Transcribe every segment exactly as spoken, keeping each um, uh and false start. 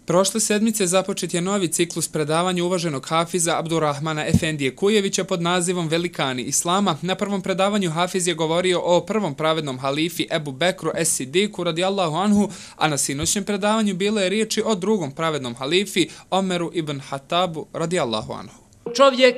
Prošle sedmice započet je novi ciklus predavanja uvaženog hafiza Abdurrahmana Efendije Kujevića pod nazivom Velikani Islama. Na prvom predavanju hafiz je govorio o prvom pravednom halifi Ebu Bekru Es-Sidiku radijallahu anhu, a na sinoćnjem predavanju bilo je riječi o drugom pravednom halifi Omeru ibn Hatabu radijallahu anhu. Čovjek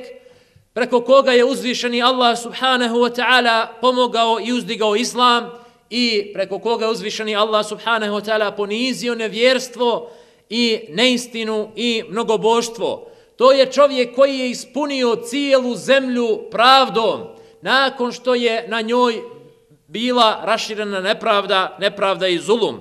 preko koga je uzvišeni Allah subhanahu wa ta'ala pomogao i uzdigao islam i preko koga je uzvišeni Allah subhanahu wa ta'ala ponizio nevjerstvo i neistinu i mnogoboštvo. To je čovjek koji je ispunio cijelu zemlju pravdom nakon što je na njoj bila raširena nepravda, nepravda i zulum.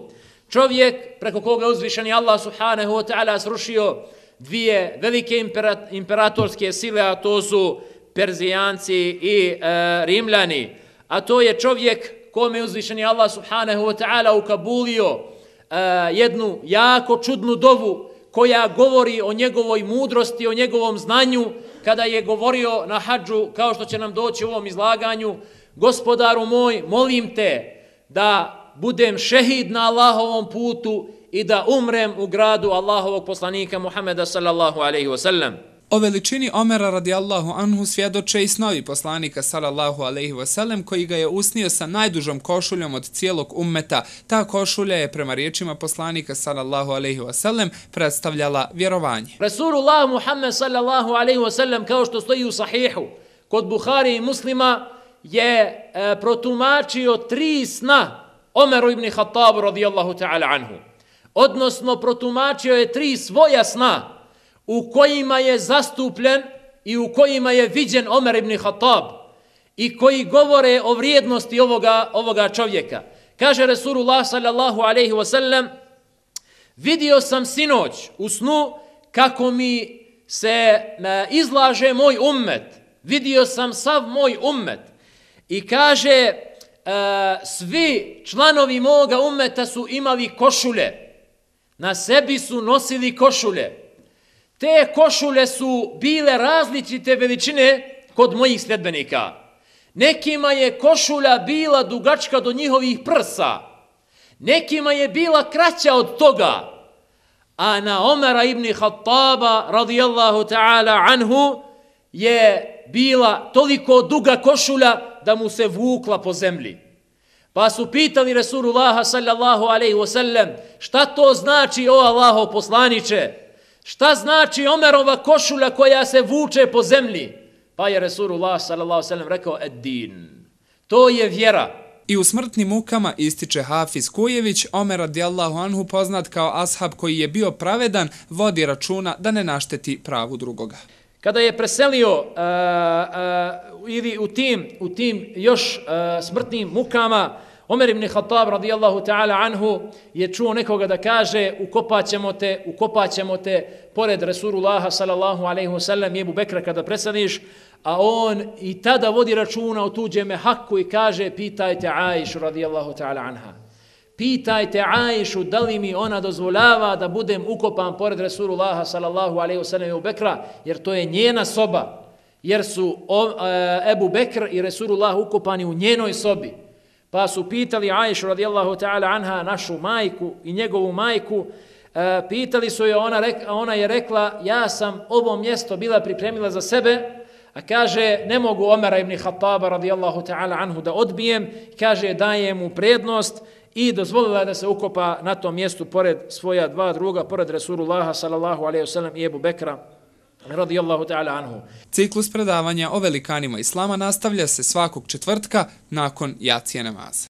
Čovjek preko koga je uzvišeni Allah subhanahu wa ta'ala srušio dvije velike imperatorske sile, a to su Perzijanci i e, Rimljani. A to je čovjek kome je uzvišeni Allah subhanahu wa ta'ala ukabulio e, jednu jako čudnu dovu koja govori o njegovoj mudrosti, o njegovom znanju, kada je govorio na hadžu, kao što će nam doći u ovom izlaganju: Gospodaru moj, molim te da budem šehid na Allahovom putu i da umrem u gradu Allahovog poslanika Muhameda sallallahu alaihi wa sallam. O veličini Omera radijallahu anhu svjedoče i snovi poslanika sallallahu alaihi wa sallam, koji ga je usnio sa najdužom košuljom od cijelog ummeta. Ta košulja je prema riječima poslanika sallallahu alaihi wa sallam predstavljala vjerovanje. Rasulullah Muhammed sallallahu alaihi wa sallam, kao što stoji u sahihu kod Buhari i Muslima, je e, protumačio tri sna Omeru ibn Hatabu radijallahu ta'ala anhu. Odnosno, protumačio je tri svoja sna u kojima je zastupljen i u kojima je viđen Omer ibn Hatab i koji govore o vrijednosti ovoga, ovoga čovjeka. Kaže Rasulullah sallallahu alaihi wa sallam: vidio sam sinoć u snu kako mi se izlaže moj ummet, vidio sam sav moj ummet i kaže svi članovi moga ummeta su imali košulje, na sebi su nosili košulje. Te košulje su bile različite veličine kod mojih sljedbenika. Nekima je košulja bila dugačka do njihovih prsa, nekima je bila kraća od toga, a na Omera ibn Hataba radijallahu ta'ala anhu je bila toliko duga košulja da mu se vukla po zemlji. Pa su pitali Rasulullaha sallallahu alaihi wa sallam: šta to znači, o Allahov poslaniče? Šta znači Omerova košulja koja se vuče po zemlji? Pa je Rasulullah sallallahu alejhi ve sellem rekao: ed-din. To je vjera. I u smrtnim mukama ističe hafiz Kujević, Omer radijallahu anhu, poznat kao ashab koji je bio pravedan, vodi računa da ne našteti pravu drugoga. Kada je preselio uh, uh, ili u tim, u tim još uh, smrtnim mukama, Omer ibn Hatab radijallahu ta'ala anhu je čuo nekoga da kaže: ukopat ćemo te, ukopat ćemo te pored Rasulullaha sallallahu alaihi wa sallam i Ebu Bekra kada preseliš, a on i tada vodi računa o tuđeme haku i kaže: pitajte Aishu radijallahu ta'ala anha. Pitajte Aishu da li mi ona dozvoljava da budem ukopan pored Rasulullaha sallallahu alaihi wa sallam i Ebu Bekra, jer to je njena soba, jer su Ebu Bekr i Rasulullah ukopani u njenoj sobi. Pa su pitali Aishu radijallahu ta'ala anha, našu majku i njegovu majku, e, pitali su je, ona, rekla, ona je rekla: ja sam ovo mjesto bila pripremila za sebe, a kaže ne mogu Omera ibn Hataba radijallahu ta'ala anhu da odbijem, kaže dajem mu prednost, i dozvolila da se ukopa na tom mjestu pored svoja dva druga, pored Rasulullaha sallallahu alaihi wa sallam i Ebu Bekra radijallahu ta'ala anhu. Ciklus predavanja o velikanima Islama nastavlja se svakog četvrtka nakon jacije namaza.